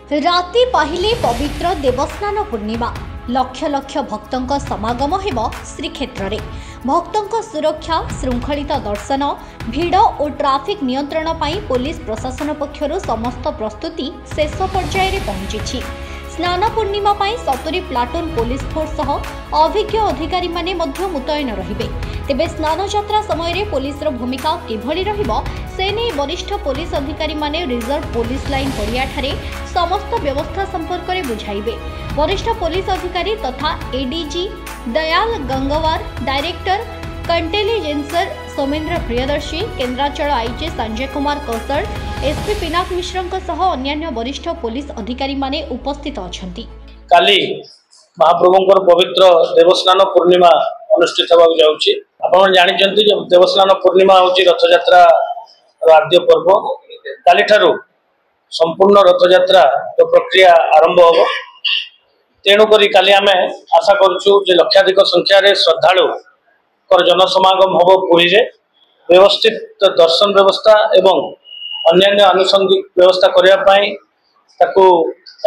ରାତି ପାହିଲେ ପବିତ୍ର ଦେବସ୍ନାନ ପୂର୍ଣ୍ଣିମା। ଲକ୍ଷ ଲକ୍ଷ ଭକ୍ତଙ୍କ ସମାଗମ ହେବ ଶ୍ରୀକ୍ଷେତ୍ରରେ। ଭକ୍ତଙ୍କ ସୁରକ୍ଷା, ଶୃଙ୍ଖଳିତ ଦର୍ଶନ, ଭିଡ଼ ଓ ଟ୍ରାଫିକ୍ ନିୟନ୍ତ୍ରଣ ପାଇଁ ପୋଲିସ ପ୍ରଶାସନ ପକ୍ଷରୁ ସମସ୍ତ ପ୍ରସ୍ତୁତି ଶେଷ ପର୍ଯ୍ୟାୟରେ ପହଞ୍ଚିଛି। ସ୍ନାନ ପୂର୍ଣ୍ଣିମା ପାଇଁ 70 ପ୍ଲାଟୁନ୍ ପୋଲିସ ଫୋର୍ସ ସହ ଅଭିଜ୍ଞ ଅଧିକାରୀମାନେ ମଧ୍ୟ ମୁତୟନ ରହିବେ। ତେବେ ସ୍ନାନଯାତ୍ରା ସମୟରେ ପୋଲିସର ଭୂମିକା କିଭଳି ରହିବ, ସେ ନେଇ ବରିଷ୍ଠ ପୋଲିସ ଅଧିକାରୀମାନେ ରିଜର୍ଭ ପୋଲିସ ଲାଇନ୍ ପଡ଼ିଆଠାରେ ସମସ୍ତ ବ୍ୟବସ୍ଥା ସମ୍ପର୍କରେ ବୁଝାଇବେ। ବରିଷ୍ଠ ପୋଲିସ ଅଧିକାରୀ ତଥା ଏଡିଜି ଦୟାଲ ଗଙ୍ଗୱାର, ଡାଇରେକ୍ଟର କଣ୍ଟେଲିଜେନ୍ସର ସୌମେନ୍ଦ୍ର ପ୍ରିୟଦର୍ଶୀ, କେନ୍ଦ୍ରାଞ୍ଚଳ ଆଇଜି ସଞ୍ଜୟ କୁମାର କୌଶଳ, ଏସ୍ପି ପିନାକ ମିଶ୍ରଙ୍କ ସହ ଅନ୍ୟାନ୍ୟ ବରିଷ୍ଠ ପୋଲିସ ଅଧିକାରୀମାନେ ଉପସ୍ଥିତ ଅଛନ୍ତି। କାଲି ମହାପ୍ରଭୁଙ୍କର ପବିତ୍ର ଦେବସ୍ନାନ ପୂର୍ଣ୍ଣିମା ଅନୁଷ୍ଠିତ ହେବାକୁ ଯାଉଛି। ଆପଣ ଜାଣିଛନ୍ତି ଯେ ଦେବସ୍ନାନ ପୂର୍ଣ୍ଣିମା ହେଉଛି ରଥଯାତ୍ରାର ଆଦ୍ୟ ପର୍ବ। କାଲିଠାରୁ ସମ୍ପୂର୍ଣ୍ଣ ରଥଯାତ୍ରାର ପ୍ରକ୍ରିୟା ଆରମ୍ଭ ହେବ। ତେଣୁକରି କାଲି ଆମେ ଆଶା କରୁଛୁ ଯେ ଲକ୍ଷାଧିକ ସଂଖ୍ୟାରେ ଶ୍ରଦ୍ଧାଳୁଙ୍କର ଜନସମାଗମ ହେବ ପୁରୀରେ। ବ୍ୟବସ୍ଥିତ ଦର୍ଶନ ବ୍ୟବସ୍ଥା ଏବଂ ଅନ୍ୟାନ୍ୟ ଆନୁଷଙ୍ଗିକ ବ୍ୟବସ୍ଥା କରିବା ପାଇଁ, ତାକୁ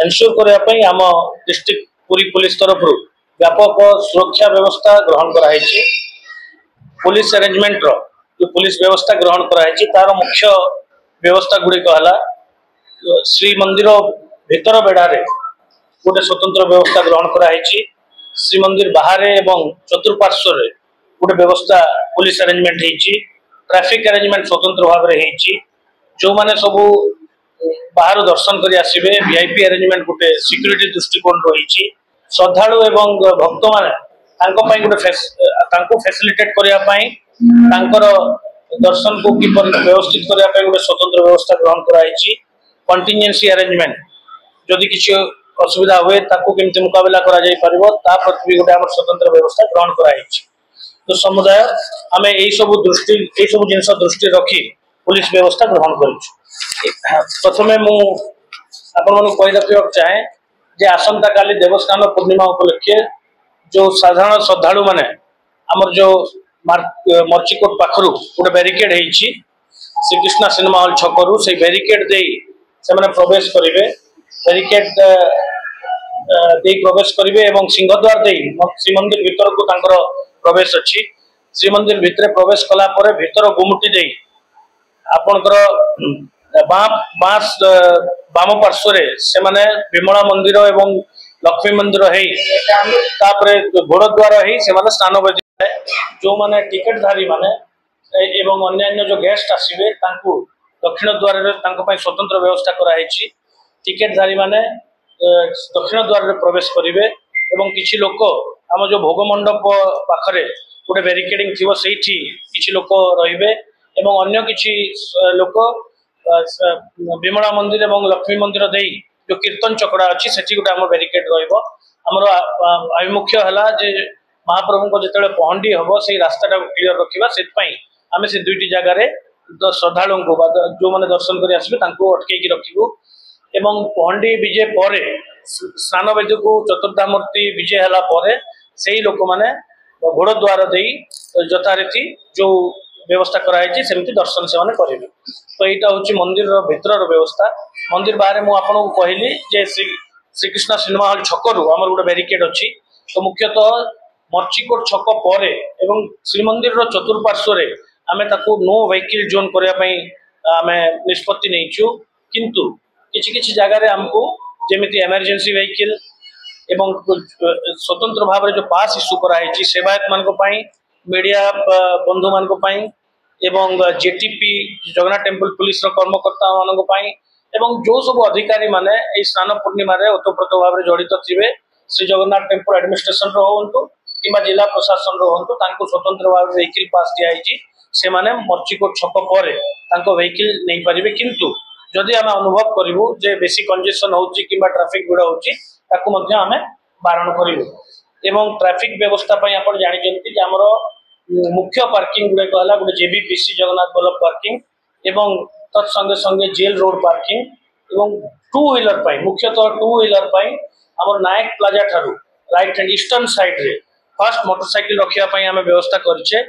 ଏନସ୍ୟୁର କରିବା ପାଇଁ ଆମ ଡିଷ୍ଟ୍ରିକ୍ଟ ପୁରୀ ପୋଲିସ ତରଫରୁ ବ୍ୟାପକ ସୁରକ୍ଷା ବ୍ୟବସ୍ଥା ଗ୍ରହଣ କରାହେଇଛି। ପୋଲିସ ଆରେଞ୍ଜମେଣ୍ଟର ଯେଉଁ ପୋଲିସ ବ୍ୟବସ୍ଥା ଗ୍ରହଣ କରାହେଇଛି, ତାର ମୁଖ୍ୟ ବ୍ୟବସ୍ଥା ଗୁଡ଼ିକ ହେଲା, ଶ୍ରୀମନ୍ଦିର ଭିତର ବେଢ଼ାରେ ଗୋଟେ ସ୍ୱତନ୍ତ୍ର ବ୍ୟବସ୍ଥା ଗ୍ରହଣ କରାହେଇଛି। ଶ୍ରୀମନ୍ଦିର ବାହାରେ ଏବଂ ଚତୁଃପାର୍ଶ୍ୱରେ ଗୋଟେ ବ୍ୟବସ୍ଥା ପୋଲିସ ଆରେଞ୍ଜମେଣ୍ଟ ହେଇଛି। ଟ୍ରାଫିକ ଆରେଞ୍ଜମେଣ୍ଟ ସ୍ୱତନ୍ତ୍ର ଭାବରେ ହେଇଛି। ଯେଉଁମାନେ ସବୁ ବାହାରୁ ଦର୍ଶନ କରି ଆସିବେ, ଭିଆଇପି ଆରେଞ୍ଜମେଣ୍ଟ ଗୋଟେ ସିକ୍ୟୁରିଟି ଦୃଷ୍ଟିକୋଣ ରହିଛି। ଶ୍ରଦ୍ଧାଳୁ ଏବଂ ଭକ୍ତମାନେ ତାଙ୍କ ପାଇଁ ଗୋଟେ, ତାଙ୍କୁ ଫ୍ୟାସିଲିଟେଟ୍ କରିବା ପାଇଁ, ତାଙ୍କର ଦର୍ଶନକୁ କିପରି ବ୍ୟବସ୍ଥିତ କରିବା ପାଇଁ ଗୋଟେ ସ୍ୱତନ୍ତ୍ର ବ୍ୟବସ୍ଥା ଗ୍ରହଣ କରାହେଇଛି। କଣ୍ଟିନଜେନ୍ସି ଆରେଞ୍ଜମେଣ୍ଟ, ଯଦି କିଛି ଅସୁବିଧା ହୁଏ ତାକୁ କେମିତି ମୁକାବିଲା କରାଯାଇ ପାରିବ, ତା ପ୍ରତି ବି ଗୋଟେ ଆମର ସ୍ୱତନ୍ତ୍ର ବ୍ୟବସ୍ଥା ଗ୍ରହଣ କରାହେଇଛି। ତ ସମୁଦାୟ ଆମେ ଏଇ ସବୁ ଜିନିଷ ଦୃଷ୍ଟି ରଖି ପୋଲିସ ବ୍ୟବସ୍ଥା ଗ୍ରହଣ କରିଛୁ। ପ୍ରଥମେ ମୁଁ ଆପଣମାନଙ୍କୁ କହି ରଖିବାକୁ ଚାହେଁ ଯେ ଆସନ୍ତାକାଲି ଦେବସ୍ନାନ ପୂର୍ଣ୍ଣିମା ଉପଲକ୍ଷେ ଯୋଉ ସାଧାରଣ ଶ୍ରଦ୍ଧାଳୁ ମାନେ, ଆମର ଯୋଉ ମର୍ଚିକୋଟ ପାଖରୁ ଗୋଟେ ବ୍ୟାରିକେଡ ହେଇଛି, ଶ୍ରୀକୃଷ୍ଣ ସିନେମା ହଲ୍ ଛକରୁ ସେଇ ବ୍ୟାରିକେଡ ଦେଇ ସେମାନେ ପ୍ରବେଶ କରିବେ। ବ୍ୟାରିକେଡ ଦେଇ ପ୍ରବେଶ କରିବେ ଏବଂ ସିଂହଦ୍ୱାର ଦେଇ ଶ୍ରୀମନ୍ଦିର ଭିତରକୁ ତାଙ୍କର ପ୍ରବେଶ ଅଛି। ଶ୍ରୀମନ୍ଦିର ଭିତରେ ପ୍ରବେଶ କଲା ପରେ ଭିତର ଗୁମୁଟି ଦେଇ ଆପଣଙ୍କର ବାଁ ବାଁ ବାମ ପାର୍ଶ୍ୱରେ ସେମାନେ ବିମଳା ମନ୍ଦିର ଏବଂ ଲକ୍ଷ୍ମୀ ମନ୍ଦିର ହେଇ, ତାପରେ ଘୋଡ଼ଦ୍ୱାର ହେଇ ସେମାନେ ସ୍ନାନ ବେଦି। ଯୋଉମାନେ ଟିକେଟଧାରୀ ମାନେ ଏବଂ ଅନ୍ୟାନ୍ୟ ଯୋଉ ଗେଷ୍ଟ ଆସିବେ, ତାଙ୍କୁ ଦକ୍ଷିଣ ଦ୍ୱାରରେ ତାଙ୍କ ପାଇଁ ସ୍ୱତନ୍ତ୍ର ବ୍ୟବସ୍ଥା କରାହେଇଛି। ଟିକେଟଧାରୀ ମାନେ ଦକ୍ଷିଣ ଦ୍ୱାରରେ ପ୍ରବେଶ କରିବେ ଏବଂ କିଛି ଲୋକ ଆମ ଯୋଉ ଭୋଗ ମଣ୍ଡପ ପାଖରେ ଗୋଟେ ବ୍ୟାରିକେଡିଂ ଥିବ, ସେଇଠି କିଛି ଲୋକ ରହିବେ ଏବଂ ଅନ୍ୟ କିଛି ଲୋକ ବିମଳା ମନ୍ଦିର ଏବଂ ଲକ୍ଷ୍ମୀ ମନ୍ଦିର ଦେଇ ଯୋଉ କୀର୍ତ୍ତନ ଚକଡ଼ା ଅଛି, ସେଠି ଗୋଟେ ଆମ ବ୍ୟାରିକେଡ ରହିବ। ଆମର ଆଭିମୁଖ୍ୟ ହେଲା ଯେ ମହାପ୍ରଭୁଙ୍କ ଯେତେବେଳେ ପହଣ୍ଡି ହବ, ସେଇ ରାସ୍ତାଟାକୁ କ୍ଲିୟର ରଖିବା। ସେଥିପାଇଁ ଆମେ ସେ ଦୁଇଟି ଜାଗାରେ ଶ୍ରଦ୍ଧାଳୁଙ୍କୁ ବା ଯୋଉମାନେ ଦର୍ଶନ କରି ଆସିବେ, ତାଙ୍କୁ ଅଟକେଇକି ରଖିବୁ। ଏବଂ ପହଣ୍ଡି ବିଜେ ପରେ, ସ୍ନାନ ବେଦୀକୁ ଚତୁର୍ଦ୍ଧାମୂର୍ତ୍ତି ବିଜେ ହେଲା ପରେ, ସେଇ ଲୋକମାନେ ଘୋଡ଼ ଦ୍ୱାର ଦେଇ ଯଥାରୀତି ଯୋଉ ବ୍ୟବସ୍ଥା କରାହେଇଛି, ସେମିତି ଦର୍ଶନ ସେମାନେ କରିବେ। ତ ଏଇଟା ହଉଛି ମନ୍ଦିରର ଭିତରର ବ୍ୟବସ୍ଥା। ମନ୍ଦିର ବାହାରେ ମୁଁ ଆପଣଙ୍କୁ କହିଲି ଯେ ଶ୍ରୀକୃଷ୍ଣ ସିନେମା ହଲ୍ ଛକରୁ ଆମର ଗୋଟେ ବ୍ୟାରିକେଡ ଅଛି। ତ ମୁଖ୍ୟତଃ ମର୍ଚିକୋଟ ଛକ ପରେ ଏବଂ ଶ୍ରୀମନ୍ଦିରର ଚତୁଃପାର୍ଶ୍ୱରେ ଆମେ ତାକୁ ନୋ ଭେହିକିଲ ଜୋନ୍ କରିବା ପାଇଁ ଆମେ ନିଷ୍ପତ୍ତି ନେଇଛୁ। କିନ୍ତୁ କିଛି କିଛି ଜାଗାରେ ଆମକୁ ଯେମିତି ଏମର୍ଜେନ୍ସି ଭେହିକିଲ ଏବଂ ସ୍ୱତନ୍ତ୍ର ଭାବରେ ଯୋଉ ପାସ୍ ଇସ୍ୟୁ କରାହେଇଛି ସେବାୟତ ମାନଙ୍କ ପାଇଁ, ମିଡିଆ ବନ୍ଧୁମାନଙ୍କ ପାଇଁ ଏବଂ ଜେଟିପି, ଜଗନ୍ନାଥ ଟେମ୍ପଲ ପୁଲିସର କର୍ମକର୍ତ୍ତା ମାନଙ୍କ ପାଇଁ ଏବଂ ଯୋଉ ସବୁ ଅଧିକାରୀ ମାନେ ଏଇ ସ୍ନାନ ପୂର୍ଣ୍ଣିମାରେ ଓତପ୍ରୋତ ଭାବରେ ଜଡ଼ିତ ଥିବେ, ଶ୍ରୀ ଜଗନ୍ନାଥ ଟେମ୍ପଲ ଆଡମିନିଷ୍ଟ୍ରେସନର ହୁଅନ୍ତୁ କିମ୍ବା ଜିଲ୍ଲା ପ୍ରଶାସନର ହୁଅନ୍ତୁ, ତାଙ୍କୁ ସ୍ୱତନ୍ତ୍ର ଭାବରେ ଭେହିକିଲ ପାସ୍ ଦିଆହେଇଛି। ସେମାନେ ମର୍ଚିକୋଟ ଛକ ପରେ ତାଙ୍କ ଭେହିକିଲ ନେଇପାରିବେ। କିନ୍ତୁ ଯଦି ଆମେ ଅନୁଭବ କରିବୁ ଯେ ବେଶୀ କଞ୍ଜେସନ ହଉଛି କିମ୍ବା ଟ୍ରାଫିକ ଭିଡ଼ ହଉଛି, ତାକୁ ମଧ୍ୟ ଆମେ ବାରଣ କରିବୁ। ଏବଂ ଟ୍ରାଫିକ ବ୍ୟବସ୍ଥା ପାଇଁ ଆପଣ ଜାଣିଛନ୍ତି ଯେ ଆମର ମୁଖ୍ୟ ପାର୍କିଂ ଗୁଡିକ ହେଲା ଗୋଟେ ଜେବିପିସି, ଜଗନ୍ନାଥ ବଲ୍ଲଭ ପାର୍କିଂ ଏବଂ ତତ୍ ସଙ୍ଗେ ସଙ୍ଗେ ଜେଲ ରୋଡ ପାର୍କିଂ ଏବଂ ଟୁ ହ୍ୱିଲର ପାଇଁ, ମୁଖ୍ୟତଃ ଟୁ ହ୍ୱିଲର ପାଇଁ ଆମର ନାୟକ ପ୍ଲାଜା ଠାରୁ ରାଇଟ୍ ହ୍ୟାଣ୍ଡ ଇଷ୍ଟର୍ନ ସାଇଡରେ ଫାର୍ଷ୍ଟ ମୋଟରସାଇକେଲ ରଖିବା ପାଇଁ ଆମେ ବ୍ୟବସ୍ଥା କରିଛେ।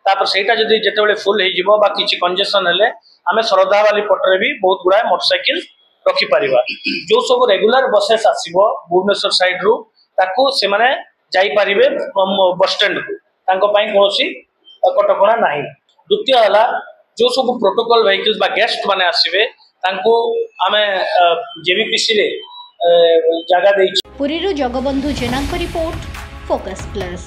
ତାପରେ ସେଇଟା ଯଦି ଯେତେବେଳେ ଫୁଲ ହେଇଯିବ ବା କିଛି କଞ୍ଜେସନ ହେଲେ, ଆମେ ଶରଧାବାଲି ପଟରେ ବି ବହୁତ ଗୁଡାଏ ମୋଟରସାଇକେଲ ରଖିପାରିବା। ଯୋଉ ସବୁ ରେଗୁଲାର ବସେସ୍ ଆସିବ ଭୁବନେଶ୍ୱର ସାଇଡରୁ, ତାକୁ ସେମାନେ ଯାଇପାରିବେ ବସଷ୍ଟାଣ୍ଡକୁ, ତାଙ୍କ ପାଇଁ କୌଣସି କଟକଣା ନାହିଁ। ଦ୍ୱିତୀୟ ହେଲା, ଯୋଉ ସବୁ ପ୍ରୋଟୋକଲ ଭେହିକିଲ୍ସ ବା ଗେଷ୍ଟ ମାନେ ଆସିବେ, ତାଙ୍କୁ ଆମେ ଜେବିପିସିରେ ଜାଗା ଦେଇଛୁ। ପୁରୀରୁ ଜଗବନ୍ଧୁ ଜେନାଙ୍କ ରିପୋର୍ଟ, ଫୋକସ୍ ପ୍ଲସ୍।